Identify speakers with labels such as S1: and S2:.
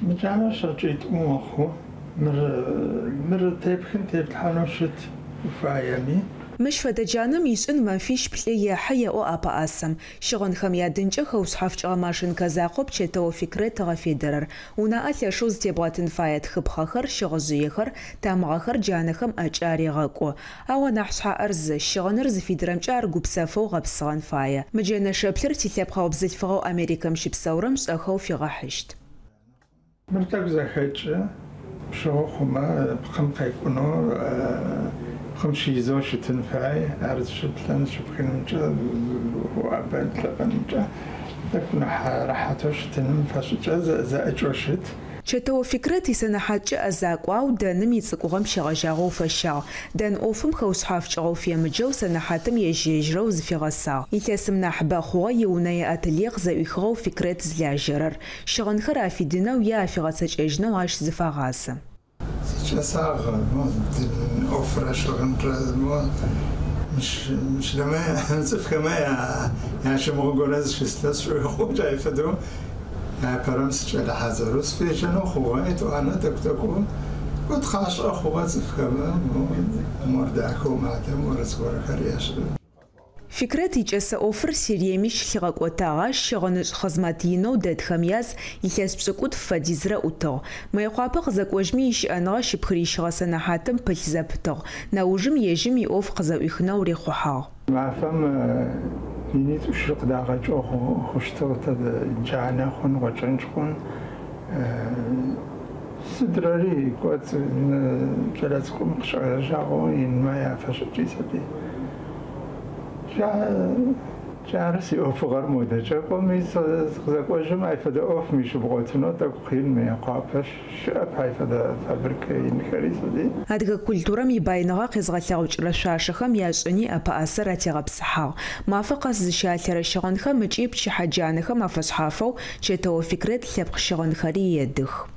S1: Мы джанэр щэкӏитӏу мэхъу. Мыр, мыр тепхын теплъхьанэу щыт уфаеми.
S2: Мыщ фэдэ джанэм ишӏын мэфищ-плӏы ехьы, еӏо ӏэпэӏасэм. Щыгъынхэм ядынкӏэ хэушъхьафкӏыгъэ машинкэ закъоп Чэтэо Фикрет ыгъэфедэрэр. Унаӏэ лъэшэу зытебгъэтын фае тхыпхъэхэр, щыгъыжъыехэр, тамыгъэхэр джанэхэм ӏэкӏэ арегъэкӏу. Ау анахь шъхьаӏэр зы, щыгъыныр зыфидырэмкӏэ ар гупсэфэу гъэпсыгъэн фае. Мы джэнэ шэплъыр тилъэпкъэгъу бзылъфыгъэу Америкэм щыпсэурэм шӏэхэу фигъэхьыщт.
S1: Мыр тӏэкӏу зэхэкӏы, пщыгъы хъумэ, пкъым къекӏунэу, пкъым щизэу щытын фай. Ар зыщыплъэн, зыщыпхынымкӏэ, уӏэбэн, плъэбэнымкӏэ тӏэкӏу нахь рэхьатэу щытыным фэшӏыкӏэ зэӏыкӏэу щыт.
S2: Чэтэо Фикрэт исэнэхьаткӏэ ӏэзакӏу, ау дэным ицӏыкӏугъэм щегъэжьагъэу фэщагъ. Дэн ӏофым хэушъхьафкӏыгъэу фемыджэу сэнэхьатым ежь-ежьырэу зыфигъэсагъ. Илъэсым нахьыбэ хъугъэ иунэе ателье къызэӏуихыгъэу Фикрэт зылажьэрэр. Щыгъынхэр афидынэу е афигъэцэкӏэжьынэу ащ зыфагъазэ.
S1: Сикӏэсагъ мо дын ӏофрэ щыгъынрэ мо мыщ мыщдэмэ цӏыфхэмэ ящымыгъын горэ зыщыслъэ сшӏоигъоу джай фэдэу апэрэм сыкӏэлэ хьазырэу сыфежьэнэу хъугъэ, етӏуанэ тӏэкӏу-тӏэкӏоу кӏо тхъашӏэ хъугъэ цӏыфхэмэ мо мор дахэу мадэ мор зыгорэхэр ешӏы.
S2: Фикрэт икӏэсэ ӏофыр Сириеми щылъигъэкӏотагъ, ащ щыгъынышӏ хъызмэт инэу дэтхэм яз илъэс пшӏыкӏутф фэдизрэ ӏутыгъ. Мыекъуапэ къызэкӏожьми ищыӏэныгъэ щыпхырищыгъэ сэнэхьатым пылъ зэпытыгъ. Нэужым ежьым иӏоф къызэӏуихынэу рихъухьагъ.
S1: Мафэм минитӏу-щы къыдагъэкӏэу хъущтыгъ, тэ джанэ хъун, гъочӏэнкӏ хъун. Сыдрэри кӏоцӏ кӏэлэцӏыкӏум къыщегъэжьагъэу инмэ яфэшӏыкӏи сыди. Джары сиӏофыгъэр модэкӏэ. Кӏоми сыкъызэкӏожьым ай фэдэ ӏоф мыщ щыбгъотынэу тӏэкӏу къин Мыекъуапэ щыӏэп ай фэдэ фабрикэ инхэри сыди.
S2: Адыгэ культурэм ибаиныгъэ къезгъэлъэгъукӏырэ шъуашэхэм яшӏыни ӏэпэӏасэр атегъэпсыхьагъ. Мафэ къэс зыщалъэрэ щыгъынхэм ыкӏи пчыхьэ джанэхэм афэшъхьафэу Чэтэо Фикрэт лъэпкъ щыгъынхэри едых.